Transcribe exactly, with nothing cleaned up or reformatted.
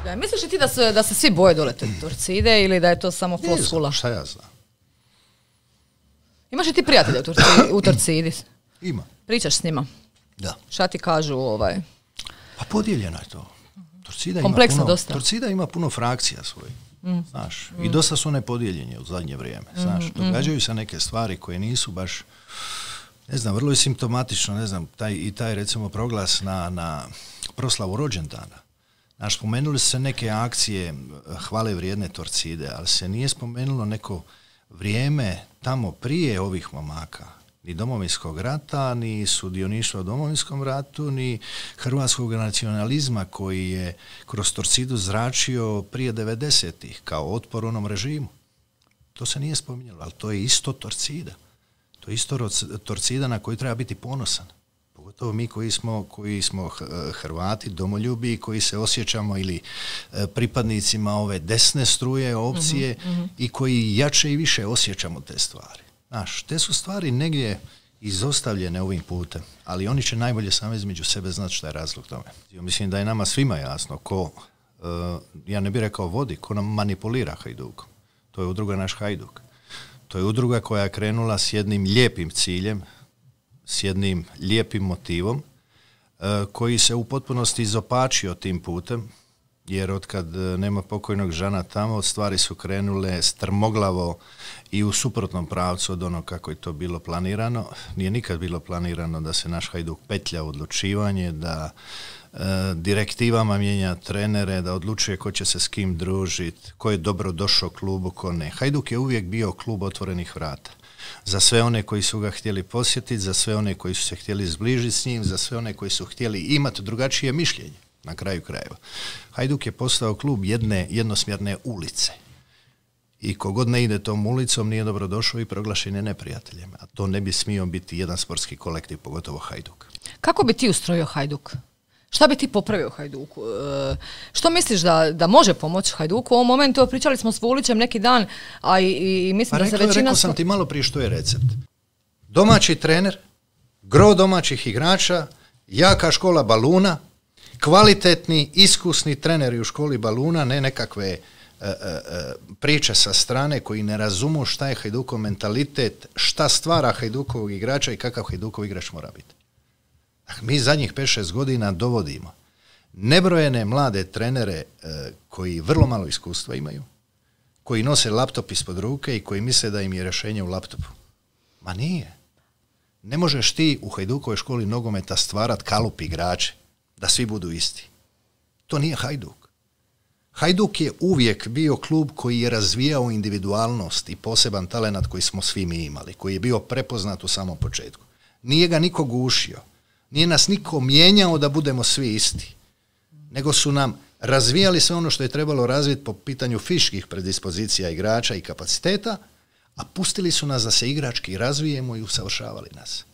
Ja, misliš li ti da se, da se svi boje dole Torcide ili da je to samo floskula? Šta ja znam? Imaš li ti prijatelja u, Torci, u Torcidi? Ima. Pričaš s njima? Da. Šta ti kažu ovaj? Pa podijeljeno je to. Torcida Kompleksno ima puno, dosta. Torcida ima puno frakcija svojih. Mm. Znaš, mm. i dosta su one podijeljene u zadnje vrijeme. Znaš, mm. događaju se neke stvari koje nisu baš, ne znam, vrlo je simptomatično, ne znam, taj, i taj recimo proglas na, na proslavu rođendana. Znaš, spomenuli su se neke akcije hvale vrijedne Torcide, ali se nije spomenulo neko vrijeme tamo prije ovih momaka, ni Domovinskog rata, ni sudioništva u Domovinskom ratu, ni hrvatskog nacionalizma koji je kroz Torcidu zračio prije devedesetih kao otpor onom režimu. To se nije spominjalo, ali to je isto Torcida. To je isto Torcida na koju treba biti ponosan. Pogotovo mi koji smo, koji smo Hrvati, domoljubi, koji se osjećamo ili pripadnicima ove desne struje, opcije mm-hmm. i koji jače i više osjećamo te stvari. Znaš, te su stvari negdje izostavljene ovim putem, ali oni će najbolje sami između sebe znati šta je razlog tome. Mislim da je nama svima jasno ko, uh, ja ne bih rekao vodi, ko nam manipulira Hajdukom. To je udruga Naš Hajduk. To je udruga koja je krenula s jednim lijepim ciljem, s jednim lijepim motivom, uh, koji se u potpunosti izopačio tim putem, jer otkad nema pokojnog Žana tamo, stvari su krenule strmoglavo i u suprotnom pravcu od ono kako je to bilo planirano. Nije nikad bilo planirano da se naš Hajduk petlja u odlučivanje, da e, direktivama mijenja trenere, da odlučuje ko će se s kim družiti, ko je dobro došao klubu, ko ne. Hajduk je uvijek bio klub otvorenih vrata. Za sve one koji su ga htjeli posjetiti, za sve one koji su se htjeli zbližiti s njim, za sve one koji su htjeli imati drugačije mišljenje. Na kraju krajeva. Hajduk je postao klub jedne jednosmjerne ulice. I kogod ne ide tom ulicom nije dobro došao i proglašen je neprijateljem. A to ne bi smio biti jedan sportski kolektiv, pogotovo Hajduk. Kako bi ti ustrojio Hajduk? Šta bi ti popravio Hajduku? E, što misliš da, da može pomoći Hajduku? U ovom momentu pričali smo s Vulićem neki dan, a i, i mislim pa da se rekao, većina... Rekao sam ti malo prije što je recept. Domaći trener, gro domaćih igrača, jaka škola baluna, kvalitetni, iskusni treneri u školi baluna, ne nekakve e, e, priče sa strane koji ne razumu šta je Hajdukov mentalitet, šta stvara Hajdukovog igrača i kakav Hajdukov igrač mora biti. Mi zadnjih pet šest godina dovodimo nebrojene mlade trenere e, koji vrlo malo iskustva imaju, koji nose laptop ispod ruke i koji misle da im je rješenje u laptopu. Ma nije. Ne možeš ti u Hajdukovoj školi nogometa stvarat kalup igrače da svi budu isti. To nije Hajduk. Hajduk je uvijek bio klub koji je razvijao individualnost i poseban talenat koji smo svi mi imali, koji je bio prepoznat u samom početku. Nije ga niko gušio, nije nas niko mijenjao da budemo svi isti, nego su nam razvijali sve ono što je trebalo razviti po pitanju fizičkih predispozicija igrača i kapaciteta, a pustili su nas da se igrački razvijemo i usavršavali nas.